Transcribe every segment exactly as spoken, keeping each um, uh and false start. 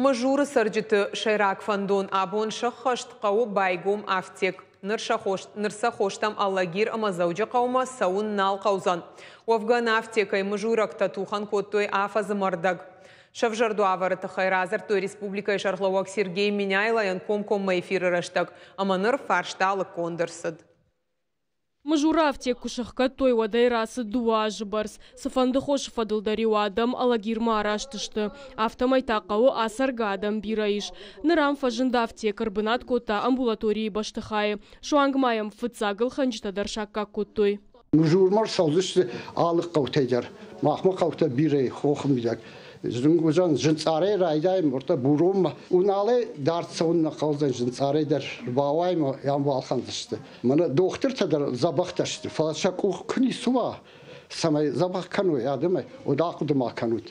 Мызуры цӕрджыты сӕйраг фӕндон абон сӕххӕст: хъӕуы байгом афтек. Ныр сӕ, хос, ныр сӕ хостӕм Алагир ӕмӕ Дзӕуджыхъӕумӕ цӕуын нал хъӕудзӕн. Уӕвгӕ ӕнӕ афтекӕй мызуйрӕгтӕ тухӕн кодтой афӕдзы ӕрдӕг. Сӕвзӕрд уавӕры тыххӕй радзырдтой республикӕйы сӕргълӕууӕг Сергей Меняйлойӕн комкоммӕ эфиры рӕстӕг, ӕмӕ ныр фарста лыггонд ӕрцыд. Мызуры афтек куы сӕхгӕдтой, уӕдӕй рацыд дыууӕ азы бӕрц. Цыфӕнды хосы фӕдыл дӕр-иу адӕм Алагирмӕ араст сты. Афтӕмӕй та хъӕуы ацӕргӕ адӕм бирӕ ис. Ныр ам фӕзынд афтек, ӕрбынат кодта амбулаторийы бӕстыхайы. Суанг ма йӕм фыццаг ӕлхӕнджытӕ дӕр саккаг кодтой. Мызурмӕ рцӕудзысты алы хъӕутӕй дӕр. Махмӕ хъӕутӕ бирӕ хохы мидӕг. Зын Зынцъарӕй райдайӕм уӕртӕ Буронмӕ. Уыналӕй дард цӕуын нӕ хъӕудзӕн, Зынцъарӕй дӕр ӕрбауайӕм, ам балхӕндзысты. Мӕнӕ дохтыртӕ дӕр дзӕбӕхтӕ сты, фӕлӕ сӕ къух куы ницы уа, цӕмӕй дзӕбӕх кӕной адӕмӕй, уӕд ахъуыды ма кӕнут.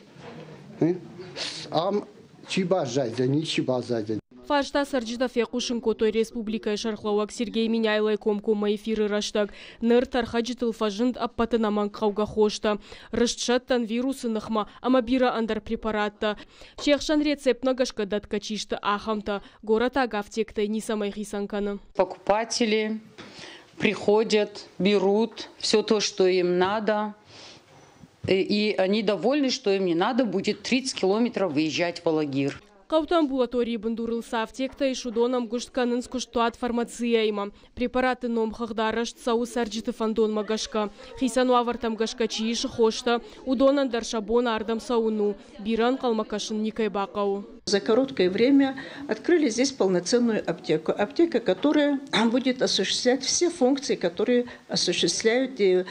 Ам чи баззайдзӕн, ничи баззайдзӕн. Фарста цӕрджытӕ фехъусын кодтой республикӕйы сӕргълӕууӕг Сергей Меняйлойы комкоммӕ эфиры рӕстӕг. Ныр тӕрхӕджытыл фӕзынд ӕппӕт ӕнӕмӕнгхъӕугӕ хостӕ, рыстсӕттӕн, вирусы ныхмӕ ӕмӕ бирӕ ӕндӕр препараттӕ. Се хсӕн рецептмӕ гӕсгӕ дӕтгӕ чи сты, ахӕмтӕ. Горӕтаг афтектӕй ницӕмӕй хицӕн кӕны. Покупатели приходят, берут все то, что им надо. И они довольны, что им не надо будет тридцать километров выезжать в Алагир. Хъӕуты амбулаторийы бындурыл цы афтектӕ ис, уыдон ӕмгуыст кӕнынц куыстуат «Фармация»-имӕ. Препаратты номхыгъд арӕзт цӕуы цӕрджыты фӕндонмӕ гӕсгӕ. Хицӕн уавӕртӕм гӕсгӕ чи исы хостӕ, уыдонӕн дӕр сӕ бон ардӕм цӕуын у. Бирӕ ӕнхъӕлмӕ кӕсын никӕй бахъӕуы. За короткое время открыли здесь полноценную аптеку. Аптека, которая будет осуществлять все функции, которые осуществляют и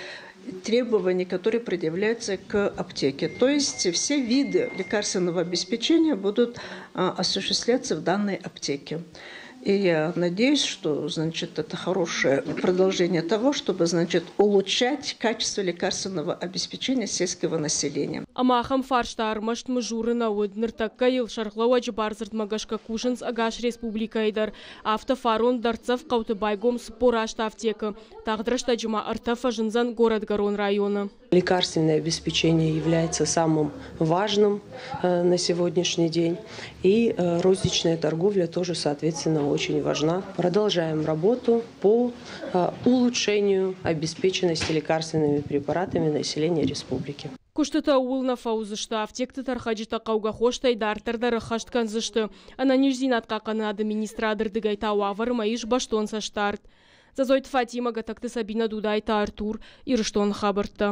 требования, которые предъявляются к аптеке. То есть все виды лекарственного обеспечения будут осуществляться в данной аптеке. И я надеюсь, что, значит, это хорошее продолжение того, чтобы, значит, улучшать качество лекарственного обеспечения сельского населения. Ӕмӕ ахӕм фарста ӕрмӕст Мызуры нӕ уыд. Ныртӕккӕ йыл сӕргълӕууӕджы бардзырдмӕ гӕсгӕ кусынц ӕгас республикӕйы дӕр. Афтӕ фарон дӕрддзӕф хъӕуты байгом цыппор аст афтекы. Тагъд рӕстӕджы ма ӕртӕ фӕзындзӕн горӕтгӕрон районы. Лекарственное обеспечение является самым важным э, на сегодняшний день. И э, розничная торговля тоже, соответственно, очень важна. Продолжаем работу по э, улучшению обеспеченности лекарственными препаратами населения республики. Куыстытӕ ууыл нӕ фӕуыдзысты. Афтекты тӕрхӕджытӕ хъӕугӕ хостӕй дарддӕр дӕр ӕххӕст кӕндзысты. Ӕнӕниздзинад хъахъхъӕнынады министрады рдыгӕй та уавӕрмӕ ис бӕстон цӕстдард. Дзӕдзойты Фатимӕ, Гӕтӕгты Сабина, Дудайты Артур, Ирыстоны хабӕрттӕ.